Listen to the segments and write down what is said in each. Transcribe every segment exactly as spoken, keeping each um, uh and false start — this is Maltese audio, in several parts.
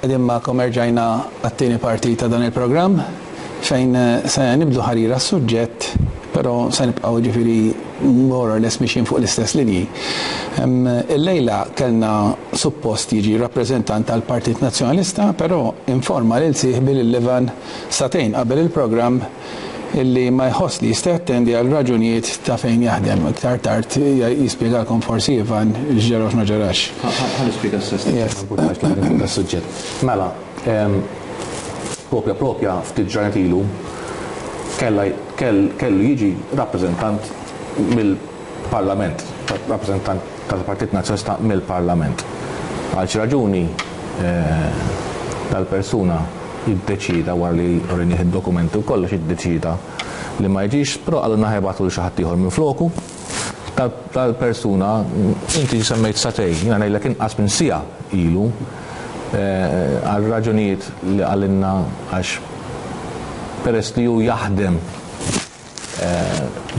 Qegħdin magħkom erġajna għat-tieni parti ta' dan il-programm fejn se nibdu ħarira s-suġġett, però se nibqgħu ġifieri more or less mixjin fuq l-istess linji. Illejla kellna suppost jiġi rappreżentant tal-Partit Nazzjonalista, però informa lil sieħbi lil Ivan sagħtejn qabel il-programm illi ma jħoss li jista' jattendi għal raġunijiet ta' fejn jaħdem. Iktar tard jispjegalkom forsi Ivan x'ġara u x'ma ġarax. Ħa nispjega s-sess suġġett. Mela, propja propja ftit ġranet ilu kellu jiġi rappreżentant mill-Parlament, rappreżentant tal-Partit Nazzjonalista mill-Parlament. Għal xi raġuni dal-persuna jiddeċida wara li urinih id-dokumenti u kollox jiddeċida li ma jiġix, però qalulna ħa jibagħtu lil xi ħadd ieħor minn floku. Tal-persuna, inti semmejt sagħtejn, jiena ngħidlek inqas minn siegħa ilu, għal raġunijiet li qalilna għax peress li hu jaħdem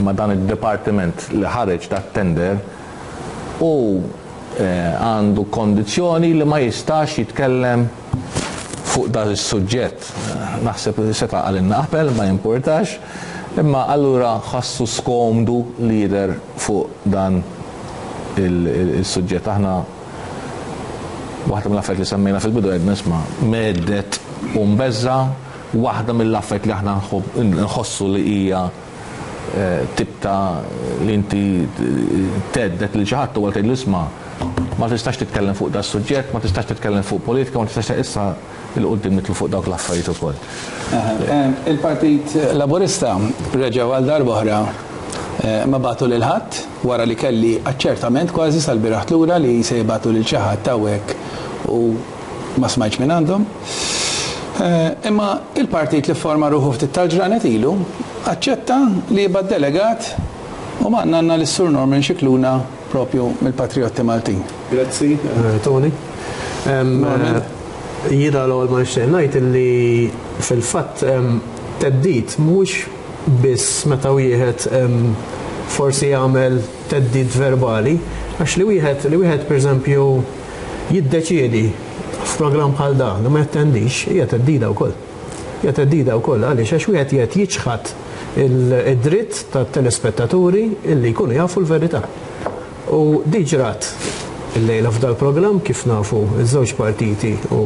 ma' dan id-dipartiment li ħareġ dat-tender u għandu kondizzjoni li ma jistax jitkellem fuq dan is-suġġett. Naħseb li seta' qalilna qabel, ma jimpurtax, imma allura ħassu skomdu li jidher fuq dan il-suġġett. Aħna waħda mill-affarijiet li semmejna fil-bidu għedna isma' mhedded u mbeżża', waħda mill-affarijiet li aħna nħossu li hija tip ta' li inti thedded lil xi ħadd huwa tgħidlu isma' ma tistax titkellem fuq da suġġett, ma tistax titkellem fuq politika, ma tistax issa il-qudiem nitlu fuq dawk l-affarijiet ukoll. Il-Partit Laburista reġgħu għal darb'oħra ma bagħtu lil ħadd wara li kelli aċċertament kważi sal-bieraħ lura li se jibagħtu lil xi ħadd hawnhekk u ma smajtx minn għandhom. Imma il-partit li forma ruħu ftit tal-ġranet ilu aċċetta li jibgħat delegat u magħna għandna lis-Sur Norman Scicluna propju mill-Patrijotti Maltin. Grazzi, Tony. Jiena l-ewwel ma nixtieq ngħid illi fil-fatt theddid mhux biss meta wieħed forsi jagħmel theddid verbali, għax li wieħed li wieħed pereżempju jiddeċiedi f'programm bħal dan li ma jattendix hija theddida wkoll. Hija theddida wkoll għaliex għax wieħed qiegħed jiċħad id-dritt tat-telespettaturi illi jkunu jafu l-verità. U di ġrat illejla f'dal-programm kif nafu iż-żewġ partiti u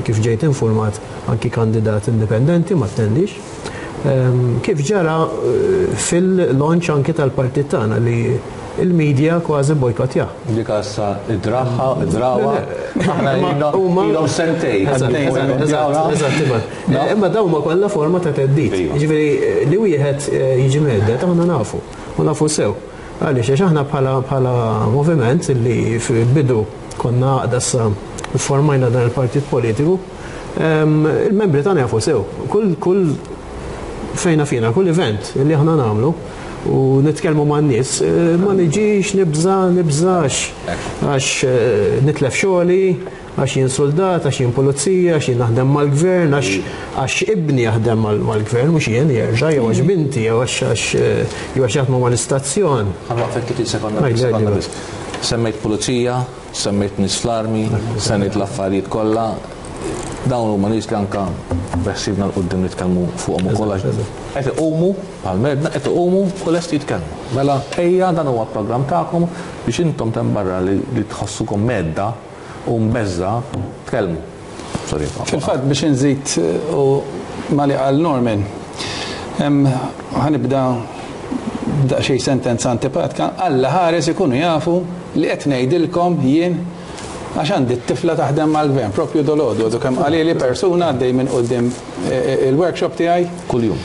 kif ġejt informat anki kandidat indipendenti ma attendix. Kif ġara fil-launch anki tal-partit tagħna li il-media kważi bojkottja. Dik issa id-draħħa, id-drawa, aħna ilhom sentejn. Eżatt, imma dawn ma kollha forma ta' theddid. Jiġifieri li wieħed jiġi mhedded aħna nafu, u nafu sew. Għaliex għax aħna bħala moviment li fil-bidu konna għaqda issa formajna dan il-partit politiku, il-membri tagħna jafu sew. Kull kull fejna fina, kull event li aħna nagħmlu u nitkellmu man-nies, ma niġix nibża' nibżax għax nitlef xogħli, għax jien soldat, għax jien pulizija, għax jien naħdem mal-gvern, għax ibni jaħdem mal-gvern, mhux jien jerġa' jew għax binti, jew għax jew għax jaħdmu mal-istazzjon. Ħa nwaqfek tletin sekonda biss. Semmejt pulizija, semmejt nies fl-armi, semmejt l-affarijiet kollha. Dawn huma nies li anka beħsiebna 'l quddiem nitkellmu fuqhom ukoll għax qed iqumu bħal medna qed iqumu u lesti jitkellmu. Mela ejja dan huwa programm tagħkom biex intom temm barra li tħossukom medda u mbeżża' tkellmu. Sorry. Fil-fatt biex inżid u ma li qal Norman, ħa nibda daqsxejn sentenza antipatika, Alla ħares ikunu jafu li qed ngħidilkom jien għax għandi t-tifla taħdem mal-gvern, propju dolodu, għadu kemm qalili persuna għaddej minn quddiem il-workshop tiegħi. Kuljum.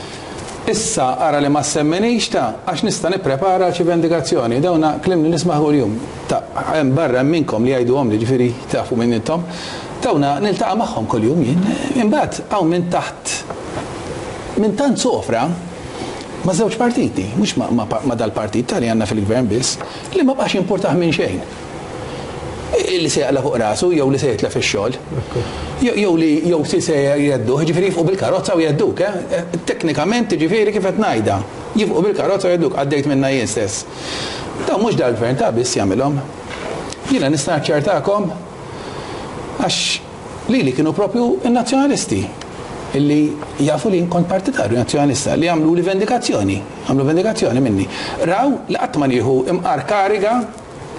Issa ara li ma semmenix ta' għax nista' nipprepara xi vendikazzjoni. Dawna kliem li nisma' kuljum. Ta' hemm barra hemm minnkom li jgħiduhom li ġifieri tafu minn intom. Dawna niltaqa' magħhom kuljum jien. Imbagħad hawn minn taħt minn tant sofra Ma' żewġ partiti, mhux ma, ma, ma dal-partit tal għandna fil-gvern biss, li ma bqax jimpurtah minn xejn. Illi se jaqla fuq rasu, jew li se jitlef ix-xogħol. Jew li jew si se jeddu, ġifieri jifqu bil-karozza u jedduk, eh? Teknikament ġifieri kif qed ngħidha. Jifqu bil-karozza u jedduk, għaddejt minna jien stess. Dawn mhux dal-gvern ta' biss jagħmilhom. Jiena nista' naċċertakom għax li li kienu propju in-nazzjonalisti illi jafu li kont partitarju nazzjonalista li għamlu li vendikazzjoni, għamlu vendikazzjoni minni. Raw li qatt ma nieħu imqar kariga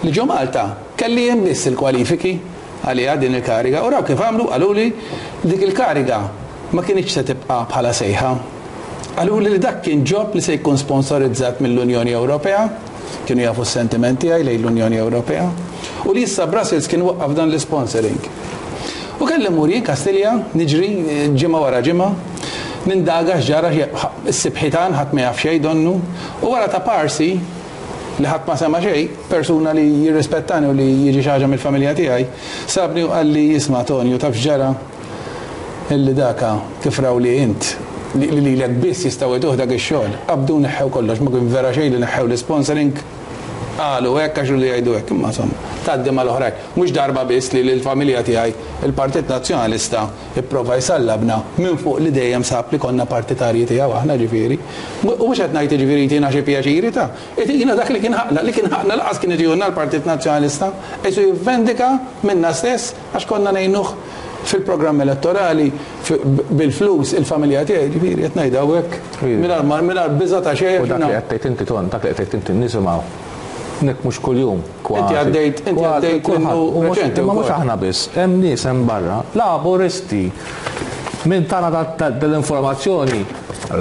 li ġo Malta kelli jien biss il-kwalifiki għaliha din il-kariga u raw kif għamlu qaluli dik il-kariga ma kienx se tibqa' bħala sejħa. Qaluli li dak kien job li se jkun sponsorizzat mill-Unjoni Ewropea, kienu jafu s-sentimenti għaj lejn l-Unjoni Ewropea, u li issa Brussels kien waqqaf dan l-sponsoring. U kelli mmur jien Kastilja, niġri ġimgħa wara ġimgħa, nindaga x'ġara s-sibħitan ħadd ma jaf xejn donnu, u wara ta' parsi li ħadd ma sema xejn, persuna li jirrispettani u li jiġi xi ħaġa mill-familja tiegħi, sabni u qalli jisma' Tonio taf x'ġara illi daka kif raw li int li lilek biss jistgħu jtuh dak ix-xogħol. Qabdu neħħew kollox, ma kien vera xejn li neħħew l-sponsoring, qalu hekk għax li jgħidu hekk, imma insomma, tgħaddi mal-oħrajn. Mhux darba biss li l-familja tiegħi il-Partit Nazzjonalista ipprova jsallabna minn fuq li dejjem sab li konna partitarji tiegħu aħna ġifieri. U mhux qed ngħid ġifieri tina xi pjaċiri ta' jiena dak li kien ħaqna, li kien ħaqna laqas kien itihulna l-Partit Nazzjonalista, qisu jivvendika minna stess għax konna ngħinuh fil-programm elettorali bil-flus il-familja tiegħi, ġifieri qed ngħid hawnhekk mingħajr biża' ta' xejn. U dak li qed tgħid inti Ton, dak li qed tgħid inti nisimgħu. Nek mhux kuljum kważi. Inti għaddejt, inti għaddejt minnu reċenti. Imma mhux aħna biss, hemm nies hemm barra, laburisti. Min tana dell-informazzjoni,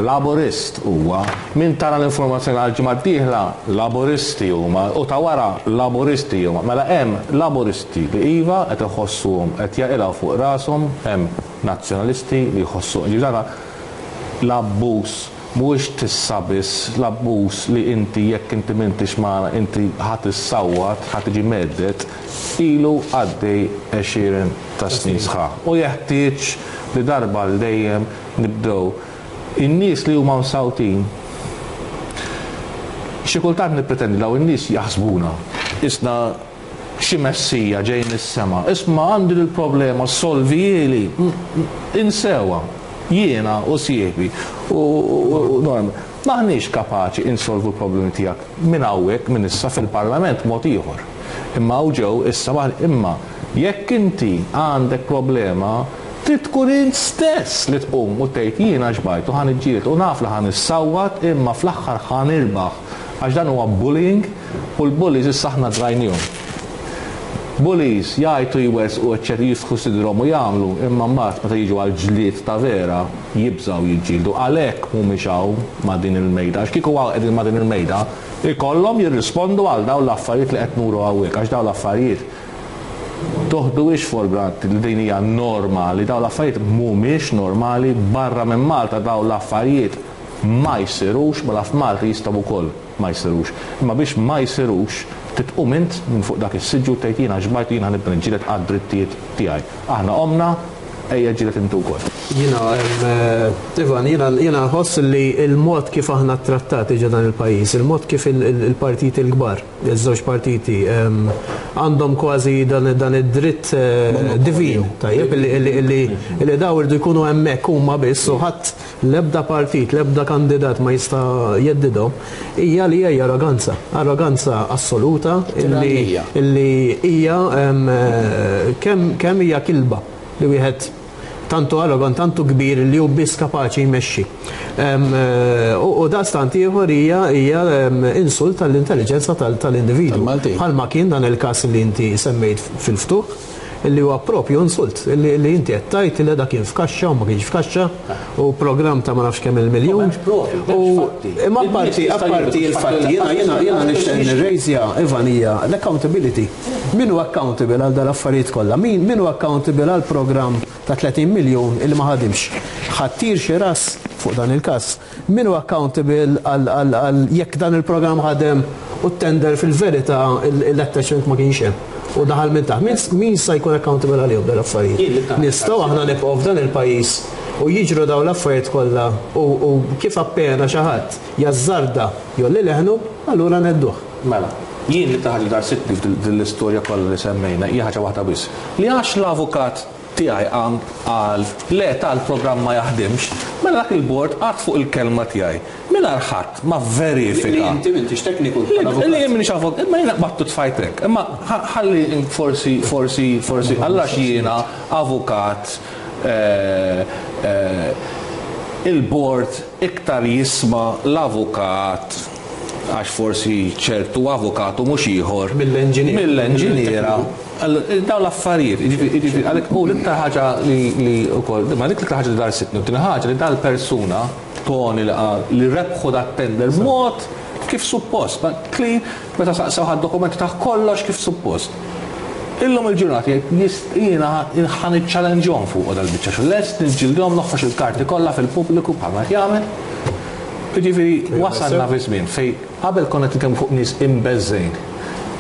laburist huwa. Min tana l-informazzjoni għal ġimgħa d-dieħla, laburisti huma, u ta' wara laburisti huma. Mela hemm laburisti li iva qed iħossuhom qed jaqilgħu fuq rashom, hemm nazzjonalisti li jħossu ġifieri l-abbuż mhuwiex tissa biss, l-abbuż li inti jekk inti m'intix magħna inti ħadd issawwat, ħadd tiġi meddet, ilu għaddej għexieren ta' snin sħaħ. U jeħtieġ li darba l dejjem nibdew in-nies li huma msawtin. Xi kultant nippretendi daw in-nies jaħsbuna isna xi messija ġej mis-sema. Isma' għandi l-problema solvieli, insewa. Jiena u sieħbi u norm. Maħniex kapaċi insolvu l-problemi tiegħek minn hawnhekk minn issa fil-Parlament mod ieħor. Imma hawn ġew issa imma jekk inti għandek problema trid tkun int stess li tqum u tgħid jiena xbajt u ħa niġġieled u naf li ħa nissawwat imma fl-aħħar ħa nirbaħ għax dan huwa bullying u l-bullies issa aħna drajnihom. Bullies jgħajtu jwersqu eċċetera jisħu sidrhom u jagħmlu imma mbagħad meta jiġu għal ġlied ta' vera jibżgħu jiġġieldu għalhekk mhumiex hawn ma' din il-mejda għax kieku hawn qegħdin ma' din il-mejda ikollhom jirrispondu għal dawn l-affarijiet li qed nuru hawnhekk għax dawn l-affarijiet toħduhiex for granted li din hija normali, dawn l-affarijiet mhumiex normali barra minn Malta dawn l-affarijiet ma jsirux, mela f'Malta jistgħu wkoll ma jsirux. Imma biex ma jsirux titqum int minn fuq dak is-siġġu tgħid jiena xbajt jiena nibda niġġieled għad-drittijiet tiegħi. Aħna qomna, ejja ġġieled intu wkoll. Jiena, Ivan, jiena jiena nħoss li l-mod kif aħna trattati ġo dan il-pajjiż, il-mod kif il-partiti l-kbar, iż-żewġ partiti, għandhom kważi dan id-dritt divin, tajjeb, illi daw irdu jkunu hemmhekk huma biss u ħadd l-ebda partit, l-ebda kandidat ma jista' jeddidhom, hija li hija arroganza, arroganza assoluta illi hija kemm hija kilba li wieħed tantu arrogant, tantu kbir li hu biss kapaċi jmexxi. U daqstant ieħor hija hija insult tal-intelligenza tal-individwu. Bħalma kien dan il-każ li inti semmejt fil-ftuħ, illi huwa propju insult, illi inti qed tgħid li dak kien f'kaxxa u ma kienx f'kaxxa u programm ta' ma nafx kemm il-miljun. U imma apparti apparti il-fatti jiena jiena jiena nixtieq nirrejżja Ivan hija l-accountability. Min hu accountable għal dan l-affarijiet kollha? Min min hu accountable għal programm ta' tletin miljun illi ma ħadimx? Ħattir xi ras fuq dan il-każ. Min hu accountable għal jekk dan il-programm ħadem u t-tender fil-verità l-attachment ma kienx hemm? U daħal minn taħt. Min sa jkun accountable għalihom dan l-affarijiet? Nistgħu aħna nibqgħu f'dan il-pajjiż U jiġru dawn l-affarijiet kollha u kif appena xi ħadd jażżarda jolli leħnu, allura nedduh. Mela, jien li taħli dar sitni f'dil-istorja kollha li semmejna hija ħaġa waħda biss. Li għax l-avukat tiegħi qam qal le tal-programm ma jaħdimx, mela dak il-bord qagħad fuq il-kelma tiegħi. Mingħajr ħadd ma verifika. Li inti m'intix tekniku. Li jien m'iniex avukat, imma jiena qbadtu tfajtek. Imma ħalli forsi, forsi, forsi, għallax jiena avukat il-bord iktar jisma' l-avukat għax forsi ċertu avukatu mhux ieħor mill-enġiniera. Mill-enġiniera. Dawn l-affarijiet, jiġifieri għalhekk u l-iktar ħaġa li wkoll, ma dik l-iktar ħaġa li dar sitni, u tieni ħaġa li dal-persuna Tony li qal li rebħu dat-tender mod kif suppost, ma clean, meta saqsew ħad dokumenti ta' kollox kif suppost. Illum il-ġurnata jgħid jiena ħa niċċallenġhom fuq dal-biċċa xogħol, lest niġġildhom noħroġ il-karti kollha fil-pubbliku bħalma qed jagħmel. Jiġifieri wasalna fi żmien fejn qabel konna nitkellmu fuq nies imbeżżejn.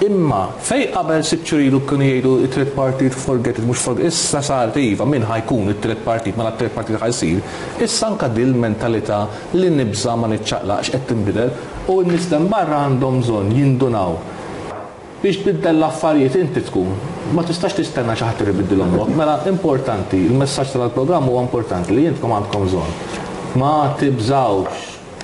Imma fej qabel sitt xhur ilu kienu jgħidu it-tliet partit forget it mhux forget issa saret iva min ħajkun it-tliet partit ma t-tliet partit ħajsir, issa anke din mentalità li nibża ma niċċaqlaqx qed tinbidel u n-nies barra għandhom bżonn jindunaw. Biex tbiddel l-affarijiet inti tkun, ma tistax tistenna xi ħadd ibiddilhom. Mela importanti, il-messaġġ tal-programm huwa importanti li intkom għandkom bżonn. Ma tibżawx,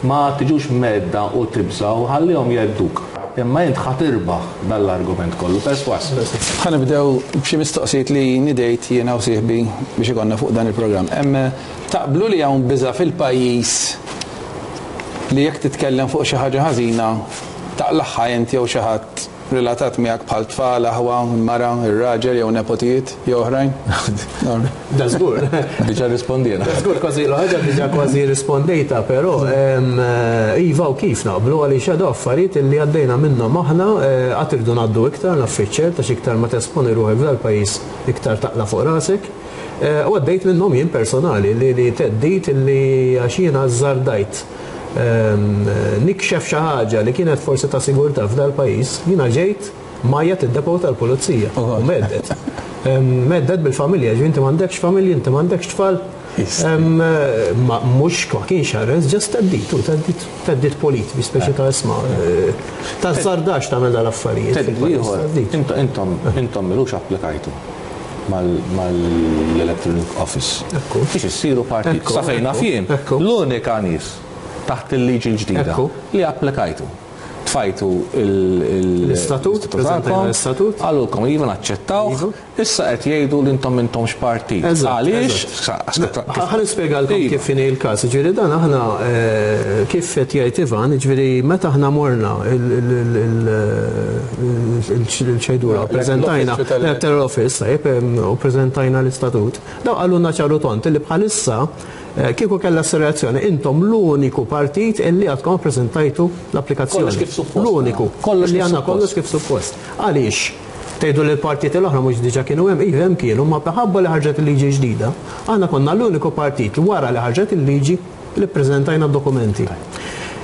ma tiġux medda u tibżaw, ħallihom jedduk. Imma int ħa tirbaħ dal-argument kollu, perswas. Ħa nibdew b'xi mistoqsijiet li nidejt jiena u sieħbi biex ikollna fuq dan il-programm. Hemm taqblu li hawn biża' fil-pajjiż li jekk titkellem fuq xi ħaġa ħażina taqlaħħa inti jew xi ħadd relatat miegħek bħal tfal, aħwa, mara, ir-raġel jew nepotijiet jew oħrajn? Da żgur. Diġà rispondina. Da żgur kważi l-ħaġa diġà kważi rispondejta, però iva u kif naqblu għaliex għadu affarijiet li għaddejna minnhom aħna qatt irdu ngħaddu iktar naffiċċer ta' iktar ma tesponi ruħek f'dal-pajjiż iktar taqla' fuq rasek. U għaddejt minnhom jien personali li li teddit li għax jiena żżardajt nikxef xi ħaġa li kienet forsi ta' sigurtà f'dal-pajjiż, jiena ġejt majjat id-depot tal-pulizija u meddet. Meddet bil-familja, ġi inti m'għandekx familja, inti m'għandekx tfal. Mhux ma kienx arrest, ġast teddit, u teddit, teddit polit, bi speċi ta' isma'. Ta' żardax tagħmel dal-affarijiet. Teddit ieħor, intom intom milux applikajtu mal-Electronic Office. Biex issiru partit. Sa fejn naf jien, l-unika nies taħt il-liġi l-ġdida li applikajtu. Tfajtu l-istatut, preżentajna l-istatut. Qalulkom iva naċċettawh, issa qed jgħidu li intom intomx partit. Għaliex? Ħa nispjegalkom kif inhi l-każ. Ġifieri dan aħna kif qed jgħid Ivan, ġifieri meta aħna morna il-ċejdura, preżentajna l-Electoral Office, tajjeb, u preżentajna l-istatut. Daw qalulna ċaru tont li bħalissa kieku kellha s-reazzjoni, intom l-uniku partit illi għadkom preżentajtu l-applikazzjoni. Kollox kif suppost. L-uniku. Kollox li għandna kollox kif suppost. Għaliex? Tgħidu li l-partiti l-oħra mhux diġà kienu hemm, iva hemm kienu, ma minħabba li ħarġet il-liġi ġdida, aħna konna l-uniku partit wara li ħarġet il-liġi li ppreżentajna d-dokumenti.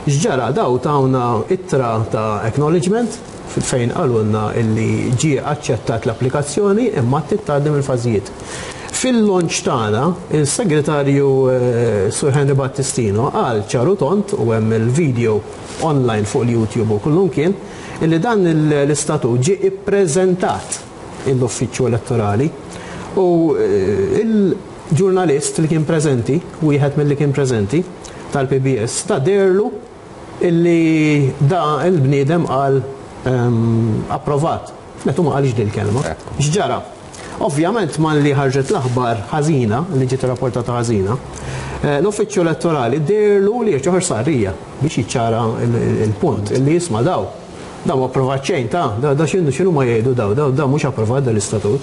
X'ġara daw tawna ittra ta' acknowledgement fejn qalulna illi ġie aċċettat l-applikazzjoni imma titgħaddi mill-fażijiet. Fil-launch tagħna, il-segretarju Sur Henry Battistino qal ċaru tont u hemm il-video online fuq il-YouTube u kullum kien illi dan l-istatut ġie ippreżentat l-uffiċċju elettorali u il-ġurnalist li kien preżenti, wieħed mill-li kien preżenti tal-P B S, ta' derlu illi da il-bniedem qal approvat. Metu ma qalx din il-kelma. X'ġara? Ovvjament man li ħarġet l-aħbar ħażina, li ġiet rapportata ħażina, l-uffiċċju elettorali derlu li ġoħor sarrija biex jiċċara il-punt illi jisma' daw. Daw ma approvat xejn ta' da x'inhu x'inhu ma jgħidu daw, daw daw mhux approvat dal-istatut.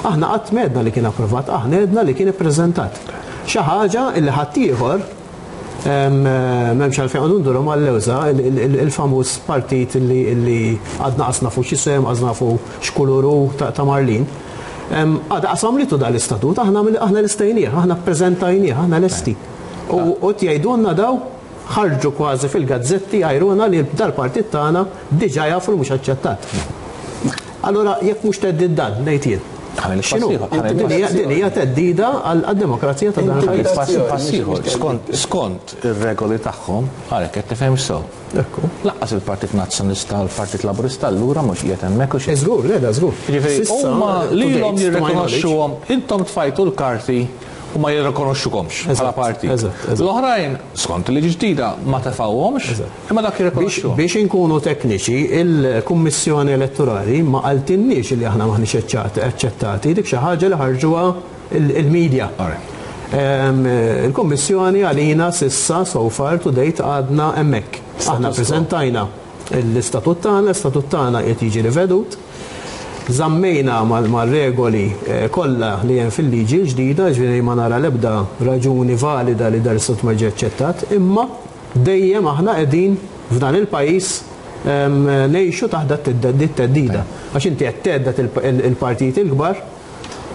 Aħna qatt m'għedna li kien approvat, aħna għedna li kien ippreżentat. Xi ħaġa illi ħaddieħor m'hemmx għalfejn qogħdu nduru mal-lewża, il-famuż partit illi għadna qas nafu x'isem, qas nafu x'kulur hu ta' Marlin. Għadha qasamlitu dal-istatut, aħna aħna lestejnieh, aħna ppreżentajnieh, aħna lesti. U tgħidulna daw ħarġu kważi fil-gazzetti għajruna li dal-partit tagħna diġà jafu li mhux aċċettat. Allura jekk mhux teddid dan, ngħid jien. Din hija theddida għad-demokrazija ta' dan il-pajjiż. Skont ir-regoli tagħhom, għalhekk qed tifhem sew. Lanqas il-Partit Nazzjonalista u l-Partit Laburista allura mhux qiegħed hemmhekk u xejn. Żgur, le da żgur. Jiġifieri huma lilhom jirrikonoxxuhom, intom tfajtu l-karti u ma jirrikonoxxukomx bħala partit. L-oħrajn, skont il-liġi ġdida, ma tefgħuhomx, imma dak jirrikonoxxuhom. Biex inkunu tekniċi, il-Kummissjoni Elettorali ma qaltilniex li aħna maħniex aċċettati, dik xi ħaġa li ħarġuha il-medja. Il-Kummissjoni għalina s'issa so far to date għadna hemmhekk. Aħna preżentajna l-istatut tagħna, l-istatut tagħna qed jiġi rivedut. Żammejna mal-regoli kollha li hemm fil-liġi l-ġdida, ġifieri ma nara l-ebda raġuni valida li dar istatut ma ġie aċċettat, imma dejjem aħna qegħdin f'dan il-pajjiż ngħixu taħt it-theddida. Għax inti qed thedded il-partit il-kbar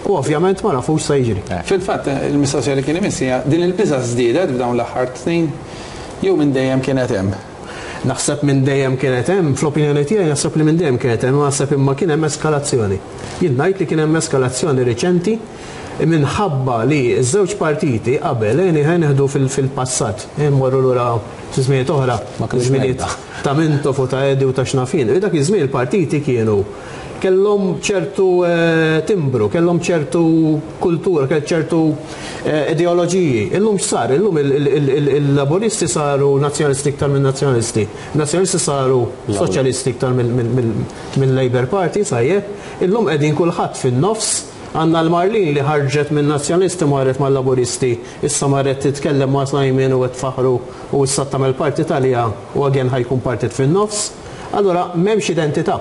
u ovvjament ma nafux se jiġri. Fil-fatt, il-mistoqsija li kien imiss hija din il-biża' żdiedet f'dawn l-aħħar snin jew minn dejjem kienet hemm? Naħseb minn dejjem kienet hemm, fl-opinjoni tiegħi naħseb li minn dejjem kienet hemm, naħseb imma kien hemm eskalazzjoni. Jien ngħid li kien hemm eskalazzjoni riċenti minħabba li ż-żewġ partiti qabel ejn nieħdu fil-passat, mmorru lura fi żminijiet oħra, żminijiet ta' Mintoff u ta' Eddie u ta' x'nafin. Dak iż-żmien il-partiti kienu kellhom ċertu timbru, kellhom ċertu kultura, kellhom ċertu ideoloġiji. Illum x'sar? Illum il-laburisti saru nazzjonalisti iktar minn nazzjonalisti. Nazzjonalisti saru soċjalisti iktar mill-Labour Party, sajjeb. Illum qegħdin kulħadd fin-nofs. Għandna l-Marlin li ħarġet minn nazzjonalisti marret mal-laburisti, issa marret titkellem ma' Simon u qed faħru u issa tagħmel parti talija u again ħa jkun partit fin-nofs. Allura m'hemmx identità.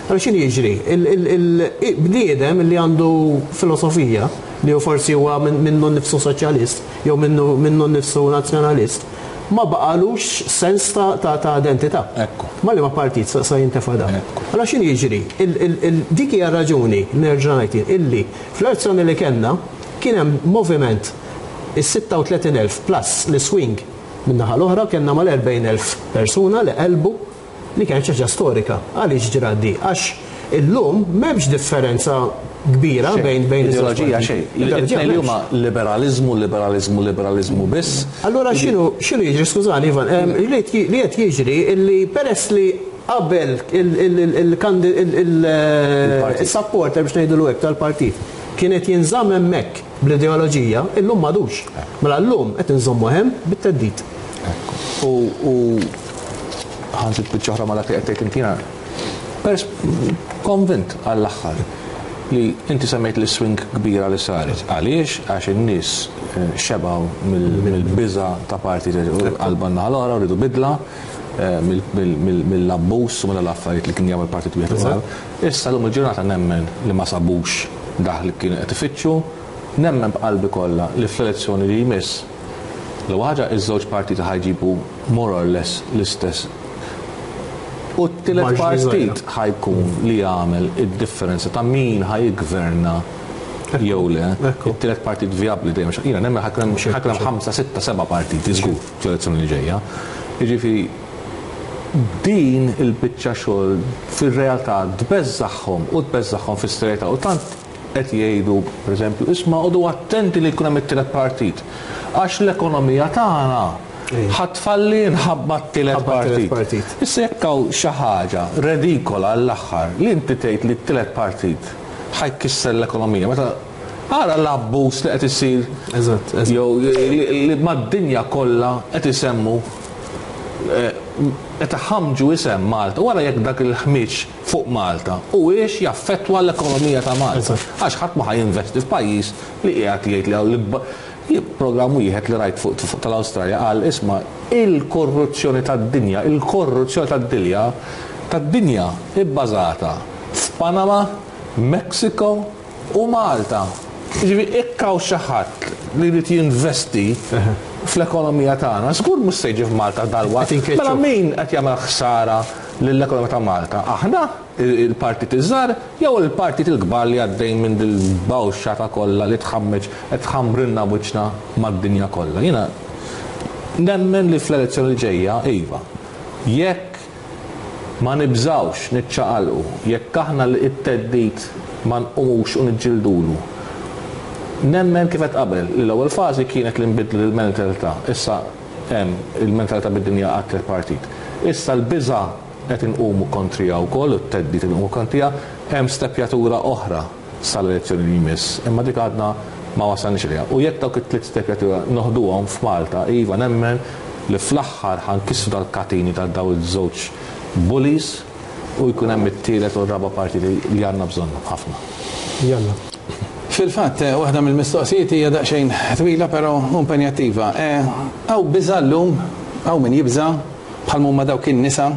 Allora x'inhi jiġri? Il-bniedem li għandu filosofija li hu forsi huwa minnu nnifsu soċjalist jew minnu nnifsu nazzjonalist, ma baqalux sens ta' identità. Ma li ma partit sa jintefa' dan. Allora x'inhi jiġri? Dik hija raġuni nerġa' ngħid illi fl-elezzjoni li kellna kien hemm moviment is-sitta u tletin elf plus li swing min-naħa l-oħra kellna mal-erbgħin elf persuna li qelbu li kienet xi ħaġa storika. Għaliex ġrat di? Għax illum m'hemmx differenza kbira bejn bejn ideoloġija xejn. It-tnejn li huma liberalizmu, liberalizmu, liberalizmu biss. Allura x'inhu x'inhu jiġri, skużani Ivan, li qed jiġri illi peress li qabel il-supporter biex ngħidulu hekk tal-partit kienet jinżamm hemmhekk bl-ideoloġija, illum m'għadux. Mela llum qed inżommu hemm bit-theddid. U ħanżid biċċa oħra ma dak li qed tgħid inti jiena pers konvint għall-aħħar li inti semmejt li swing kbira li saret. Għaliex? Għax in-nies xebgħu mill-biża ta' parti qalba naħa l-oħra rridu bidla mill-abbuż u mill-affarijiet li kien jagħmel partit wieħed ukoll. Issa llum il-ġurnata nemmen li ma sabux dak li kienu qed ifittxu, nemmen b'qalbi kollha li fl-elezzjoni li jmiss l-ewwel ħaġa iż-żewġ partiti ħajġibu more or less l-istess. U t-tielet partit ħajkun li jagħmel id-differenza ta' min ħajgverna jew le. It-tielet partit vijabbli dejjem jiena nemmen ħajkun hemm ħamsa, sitta, seba' partiti żgur fl-elezzjoni li ġejja. Jiġifieri din il-biċċa xogħol fir-realtà tbeżżagħhom u tbeżżagħhom fis-serjetà u tant qed jgħidu, pereżempju, isma' qogħdu attenti li jkun hemm it-tielet partit. Għax l-ekonomija tagħna ħatfalli nħabba t-tielet partit. Issa jekk hawn xi ħaġa redikola għall-aħħar li inti tgħid li t-tielet partit ħajkisser l-ekonomija, meta ara l-abbuż li qed isir jew li mad-dinja kollha qed isemmu qed iħammġu isem Malta, wara jekk dak il-ħmieġ fuq Malta u hiex jaffettwa l-ekonomija ta' Malta. Għax ħadd ma ħajinvesti f'pajjiż li qiegħed jgħid li hawn l-ikbar programm wieħed li rajt fuq tal-Awstralja qal isma' il-korruzzjoni tad-dinja, il-korruzzjoni tad-dinja tad-dinja ibbażata f'Panama, Mexico u Malta. Jiġifieri jekk hawn xi ħadd li jrid jinvesti fl-ekonomija tagħna, żgur mhux se jiġi f'Malta dalwaqt. Mela min qed jagħmel ħsara lill-ekonomija ta' Malta? Aħna il-partit iż-żgħar jew il-partit il-kbar li għaddejn minn dil-bawxa ta' kollha li tħammeġ qed tħammrilna wiċċna mad-dinja kollha. Jiena nemmen li fl-elezzjoni li ġejja, iva, jekk Ma nibżawx niċċaqalqu jekk aħna li it-theddid ma nqumux u niġġildulu. Nemmen kif qed qabel li l-ewwel fażi kienet li nbidlu l-mentalità. Issa hemm il-mentalità bid-dinja għat partit. Issa l-biża' qed inqumu kontrija wkoll, u t-theddid inqumu kontrija, hemm stepjatura oħra sal-elezzjoni li jmiss, imma dik għadna ma wasalniex għaliha. U jekk dawk it-tliet stepjatura noħduhom f'Malta, iva nemmen li fl-aħħar ħa nkissru dal-katini ta' daw iż-żewġ bullies u jkun hemm it-tielet u r-raba' partiti li għandna bżonnhom ħafna. Jalla. Fil-fatt, eh, waħda mill-mistoqsijiet hija daqsxejn twila però impenjattiva. Hawn biża' llum, hawn min jibża' bħal huma dawk in-nisa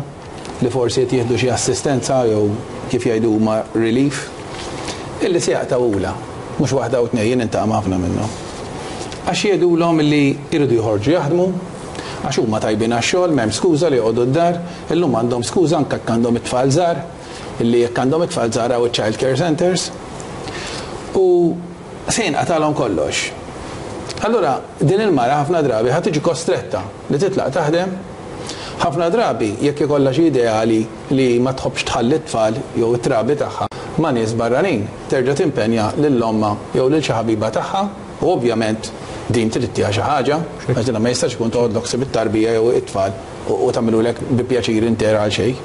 li forsi qed jieħdu xi assistenza jew kif jgħidu huma relief, illi se jaqtgħulha, mhux waħda u tnejn, jien intaqa' ħafna minnhom. Għax jgħidulhom illi jridu joħorġu jaħdmu, għax huma tajbin għax-xogħol, m'hemm skuża li joqogħdu d-dar, illum għandhom skuża anke jekk għandhom it-tfal żgħar, illi jekk għandhom it-tfal żgħar hawn child care centers. U se jinqatalhom kollox. Allura, din il-mara ħafna drabi ħa tiġi kostretta li titlaq taħdem. Ħafna drabi jekk ikollha xi ideali li ma tħobbx tħalli t-tfal jew it-trabi tagħha ma' nies barranin, terġa' timpenja lil ommha jew lil xi ħabiba tagħha u ovvjament din trid ttiha xi ħaġa, għax dinha ma jistax ikun toħodlok ħsieb it-tarbija jew it-tfal u tagħmilulek bi pjaċir inter għal xejn.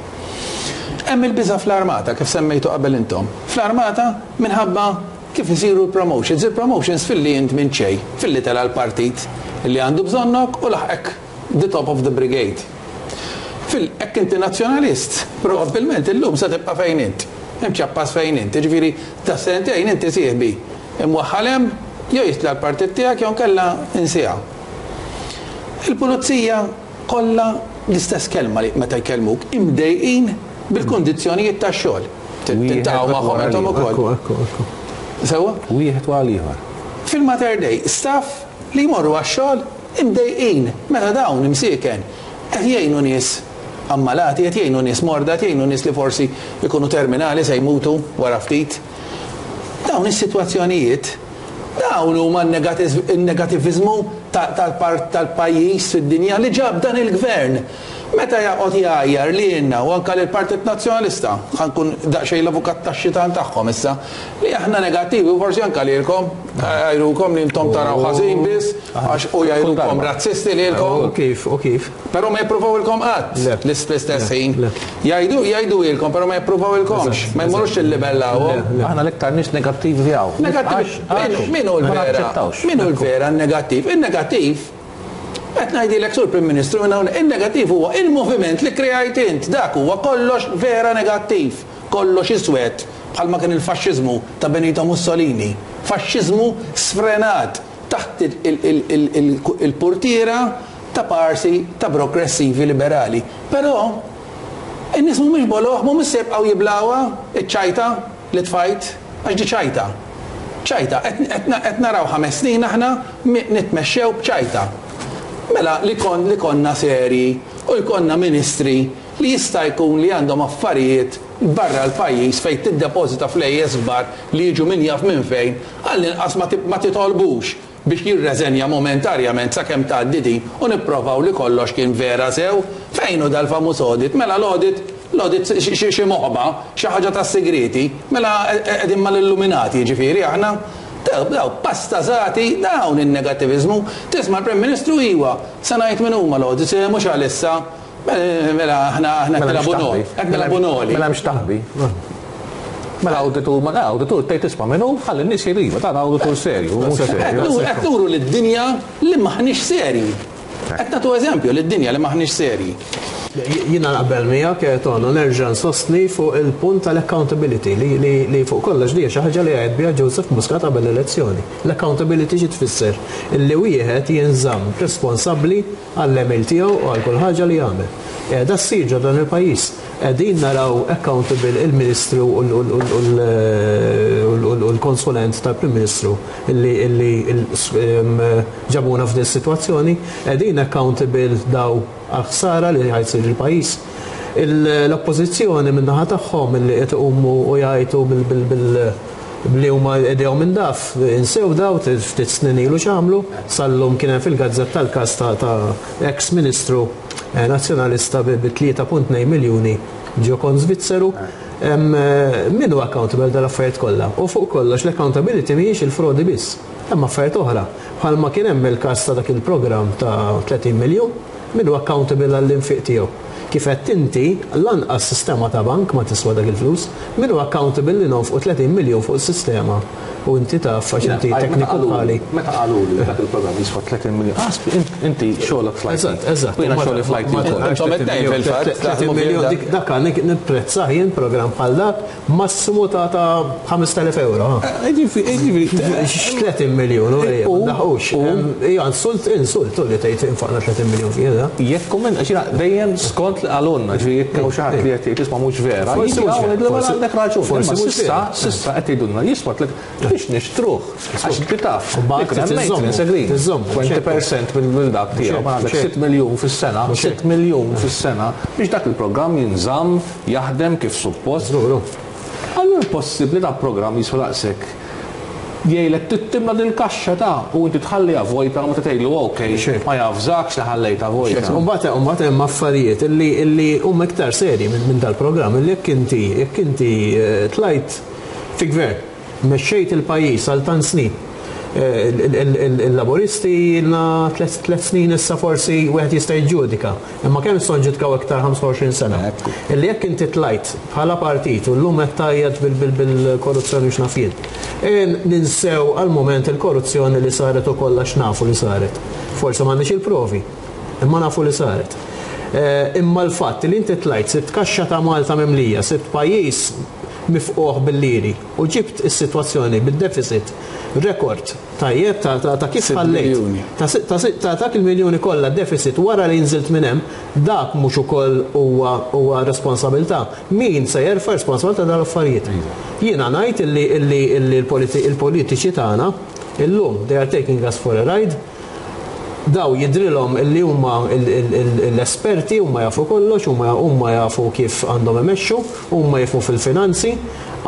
Hemm il-biża' fl-armata kif semmejtu qabel intom. Fl-armata minħabba kif isiru l-promotions. Il-promotions filli int minn xejn, filli tela l-partit li għandu bżonnok u laħqek the top of the brigade. Fil hekk inti nazzjonalist, probabbilment illum se tibqa' fejn int. Imċappas fejn int, jiġifieri ta' sentejn inti sieħbi. Imwaħħal hemm jew jitla' l-partit tiegħek jew kellha insieha. Il-pulizija kollha l-istess kelma li meta jkellmuk imdejqin bil-kundizzjonijiet tax-xogħol. Tiltaqgħu magħhom intom ukoll. Ekku, ekku, ekku. Sewwa? Wieħed wara l-ieħor. Fil-Mater Dei, staff li jmorru għax-xogħol imdejqin meta dawn imsieken qed jgħinu nies ammalati, qed jgħinu nies morda, qed jgħinu nies li forsi jkunu terminali se jmutu wara ftit. Dawn is-sitwazzjonijiet, dawn huma n-negativizmu tal-pajjiż fid-dinja li ġab dan il-gvern. Meta jaqgħod jgħajjar li jenna u anka lill-Partit Nazzjonalista, ħa nkun daqsxejn l-avukat tax-xitan tagħhom issa, li aħna negattivi u forsi anka lilkom, jgħajrukom li intom taraw ħażin biss, għax u jgħajrukom razzisti lilkom. U kif, u kif. Però ma jippruvawilkom qatt Le. l-istess ħin. Le. Jgħidu, jgħidu ilkom, però ma jippruvawilkomx, ma jmorrux illibellawhom. Le, le. Aħna l-iktar nies negattivi hawn. Negattivi. Għax- Min hu Ma l-vera? naċċettawx. Min hu l-vera negattiv? Il-negattiv qed ngħidilek sur Prim Ministru minn hawn, il-negattiv huwa il-moviment li kreajt int, dak huwa kollox vera negattiv, kollox iswed, bħalma kien il-faxxiżmu ta' Benito Mussolini, faxxiżmu sfrenat taħt il-, il-, il-, il-, il-portiera ta' parsi ta' progressivi liberali. Però in-nies mhumiex boloh, mhumiex se jibqgħu jiblawha iċ-ċajta li tfajt, għax di ċajta. ċajta, qed naraw ħames snin aħna mi-, nitmexxew b'ċajta. Mela li kon, li konna seri u jkollna ministri li jista' jkun li għandhom affarijiet barra l-pajjiż fejn tiddepożita flejjes kbar li jiġu min jaf minn fejn, għall-inqas ma ti-, ma titolbux biex jirreżenja momentarjament sakemm tgħaddi din u nipprovaw li kollox kien vera sew. Fejn hu dal-famuż audit? Mela l-audit, l-audit xi, xi, xi moħba, xi ħaġa tas-segreti, mela qegħdin mal-illuminati, jiġifieri aħna. Daw, daw, pastażati, dawn in-negativizmu. Tisma' l-Prim Ministru iwa, se ngħid min huma l-audit, se mhux għalissa. Mela aħna aħna Mela qed nilagħbu mhux noli, taħbi. qed nilagħbu noli. Mela mhux taħbi. Mela awditur, ma awditur tgħid tisma' minnu, ħalli n-nies jgħidu, dan awditur serju, mhux serju. Qed nuru lid-dinja li maħniex serji. Qed nagħtu eżempju lid-dinja li maħniex serji. Jiena naqbel miegħek, eh, Tono, nerġa' nsostni fuq il-punt tal-accountability li, li, li fuq kollox li hija xi ħaġa li għed biha Joseph Muscat qabel l-elezzjoni. L-accountability xi tfisser? Illi wieħed jinżamm responsabbli għall-għemil tiegħu u għal kull ħaġa li jagħmel. Qiegħda ssir ġo dan il-pajjiż. Qegħdin naraw accountable il-Ministru u l-, u l-, u l-, u l-, u l-konsulent tal-Prim Ministru illi, illi il-, em, ġabuna f'din is-sitwazzjoni, qegħdin accountable daw għal-ħsara li ħajsir il-pajjiż. Il-, l-oppożizzjoni min-naħa tagħhom illi qed iqumu u jgħidu bil-, bil-, bil-, li huma idejhom minn daf, insew daw ftit snin ilu x'għamlu, sallum kien hemm fil-gazzetta tal-każ ta', ta' ex-ministru, eh, nazzjonalista bi, bi tlieta punt tnejn miljuni Ġo kont Svizzeru, min hu accountable dal-affarijiet kollha? U fuq kollox l-accountability mhijiex il-frodi biss. Hemm affarijiet oħra. Bħalma kien hemm il-każ ta' dak il-programm ta' tletin miljun, min hu accountable għall-infiq tiegħu? Kif qed inti lanqas sistema ta' bank ma tiswa dak il-flus, min hu accountable li nonfqu tletin miljun fuq is-sistema? U inti taf għax inti tekniku bħali. Meta qalu li dak il-programm jiswa tletin miljun, inti xogħlok fl-I T. Eżatt, eżatt. U jiena xogħli fl-I T wkoll. Intom qed tgħid fil-fatt, tletin miljun, dik dak għandek nipprezzah jien programm bħal dak massimu ta' ta' ħamest elef euro. Ġifieri, ġifieri, Tletin miljun, u ejja, ma daħqux. Hija insult, insult, u li tgħid infaqna tletin miljun fih, da. Jekk kumment, għax jiena dejjem skont li qalulna, ġifieri jekk hawn xi ħadd li qed jgħid isma' mhux vera, Forsi jiġi mhux hawn vera, jgħidlu, mela forsi għandek raġun. forsi Imma mhux sissa, vera. sissa qed jgħidulna jiswa tliet biex nixtruh. Għax inti taf, U mbagħad jekk hemm tiżżommu, maintenance agreement, tiżżommu, twenty percent mill dak tiegħu, ma għandek sitt miljun fis-sena, Mhux sitt miljun fis-sena biex dak il-programm jinżamm, jaħdem kif suppost. Żgur. Allura possibbli dak programm jiswa daqshekk. Jgħidlek tittimla dil-kaxxa ta' u inti tħalliha vojta u meta tgħidlu ok, Xejn. ma jafżakx li ħallejtha vojta. U mbagħad, u mbagħad hemm affarijiet illi, illi huma iktar serji minn, minn dal-programm, illi jekk inti, jekk inti, eh, tlajt fi gvern, mexxejt il-pajjiż għal tant snin. Eh, il-, il-, il-, il-laboristi ilna tliet, tliet snin issa forsi wieħed jista' jiġġudika. Imma kemm nistgħu nġudikaw iktar ħamsa u għoxrin sena? Ekku. Illi jekk inti tlajt bħala partit u llum qed tgħajjat bil-, bil-, bil-korruzzjoni x'naf jien. E ninsew għal moment il-korruzzjoni li saret ukoll għax nafu li saret. Forsi m'għandniex il-provi, imma nafu li saret. Eh, imma l-fatt li inti tlajt sibt kaxxa ta' Malta mimlija, sibt pajjiż mifquħ bil-liri u ġibt is-sitwazzjoni bid-deficit rekord tajjeb ta', ta', ta' kif Sitt ħallejt. miljuni. Ta' si-, ta' si-, ta' dak il-miljuni kollha deficit wara li nżilt minn hemm, dak mhux ukoll huwa, huwa responsabilità. Min se jerfa' responsabilità dal-affarijiet? Jiena ngħid illi, illi, illi l-politi-, il-politiċi tagħna illum they are taking us for a ride. Daw jidrilhom illi huma il-, il-, il-, l-esperti, huma jafu kollox, huma, huma jafu kif għandhom imexxu, huma jafu fil-finanzi.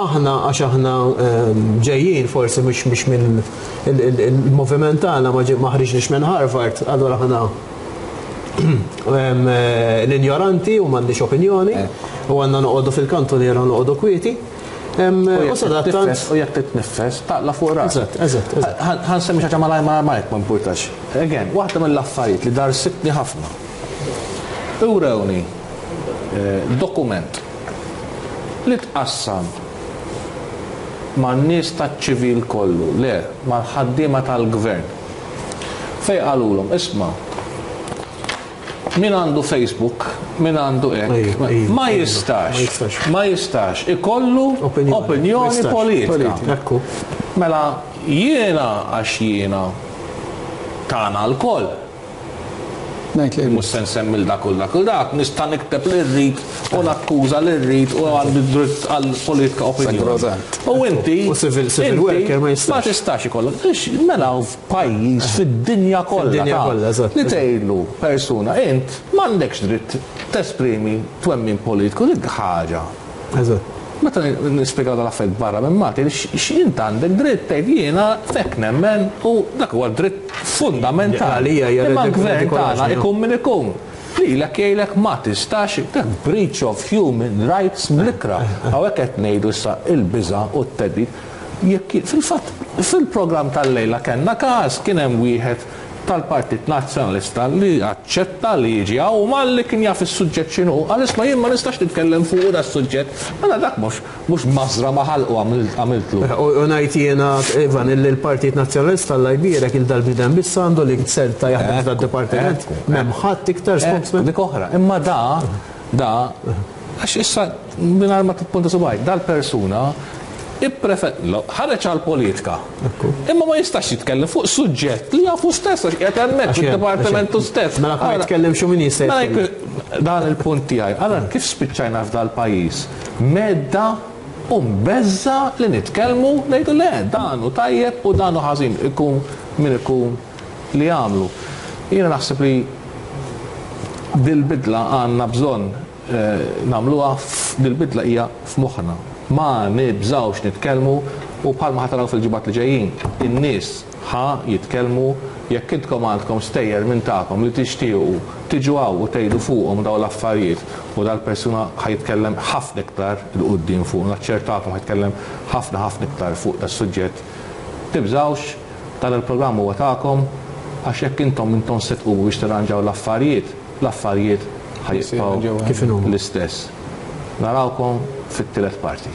Aħna għax aħna, ehm, ġejjin forsi mhux, mhux minn il-, il-, il-moviment tagħna ma ġi-, ma ħriġniex minn Harvard, allura aħna ehm, l-injoranti u m'għandix opinjoni, Eh. u għandna noqogħdu fil-kantuniera noqogħdu kwieti. Ehm, U u jekk sadattant titnifes, u jekk titnifes, taqla fuq ras. Eżatt, eżatt, eżatt. Ħa-, ħa nsemmi xi ħaġa malajr, malajr, malajr, ma importax. Again, waħda mill-affarijiet li darsitni ħafna. Urewni, eh, dokument li tqassam man-nies taċ-ċivil kollu, le, mal-ħaddiema tal-gvern. Fej qalulhom, isma', min għandu Facebook, min għandu hekk, Ejju, ejju, ma ejju, jistax, ma jistax. ma jistax ikollu Opinjoni. opinjoni Ma jistax. politika. Politika, ekku. Mela jiena għax jiena tagħna lkoll. Ngħid li Mhux se nsemmi l dak u dak u dak, nista' nikteb li rrid u nakkuża li rrid u għandi dritt għal politika opinjoni. Sagrosant. U inti, U civil, civil inti worker ma jistax. Ma tistax ikollok. Ix, mela f'pajjiż fid-dinja kollha. Fid-dinja ta' kollha, eżatt, Li eżatt. tgħidlu persuna, int m'għandekx dritt tesprimi twemmin politiku, dik ħaġa. Eżatt. Meta nispjegaw dal-affarijiet barra minn Malta, x'int għandek dritt tgħid jiena fek nemmen u dak huwa dritt fundamentali. Għalija hija Imma ridik- l-gvern ridikola tagħna x'inhu. ikun min ikun. Lilek jgħidlek ma tistax, dak breach of human rights mlikra. Hawnhekk qed ngħidu issa il-biża' u t-theddid. Jekk fil-fatt fil-programm tal-lejla kellna każ kien hemm wieħed tal-Partit Nazzjonalista li aċċetta li jiġi hawn u malli kien jaf is-suġġett x'inhu, qal isma' jien ma nistax nitkellem fuq da s-suġġett. Mela dak mhux, mhux mażra ma ħalqu għamil-, għamiltlu. U, u ngħid jiena, Ivan, illi l-Partit Nazzjonalista Alla jbierek il dal-bniedem biss għandu li serta jaħdem Ekku, f'dad-dipartiment. ekku, M'hemm ħadd iktar Ekku, spokesman. Dik oħra. Imma da, da, għax issa mingħajr ma tippunta subgħajk, dal-persuna ipprefer-, lo, ħareġ għal-politika. Ekku. Imma ma jistax jitkellem fuq suġġett li jafu stess, għax qiegħed hemmhekk Għax hemm, fid-dipartimentu għax hemm. stess. Mela ma Allora, jitkellimx u min jista' mela jitkellem. jekk dan il-punt tiegħi. Allora kif spiċċajna f'dal-pajjiż? Medda u mbeżza li nitkellmu ngħidu le, dan hu tajjeb u dan hu ħażin, ikun min ikun li jagħmlu. Jiena naħseb li dil-bidla għandna bżonn, eh, nagħmluha f-, dil-bidla hija f'moħħna. Ma nibżgħux nitkellmu u bħalma ħa taraw fil-ġimgħat li ġejjin, in-nies ħa jitkellmu Jekk intkom għandkom stejjer minn tagħkom li tixtiequ tiġu hawn u tgħidu fuqhom dawn l-affarijiet, u dal-persuna ħa jitkellem ħafna iktar 'il quddiem fuq, naċċertakom ħa jitkellem ħafna ħafna iktar fuq das-suġġett. Tibżgħux, dan il-programm huwa tagħkom, għax jekk intom intom se tqumu biex tirranġaw l-affarijiet, l-affarijiet ħa jibqgħu Kif inhuma. l-istess. Narawkom fit-tielet parti.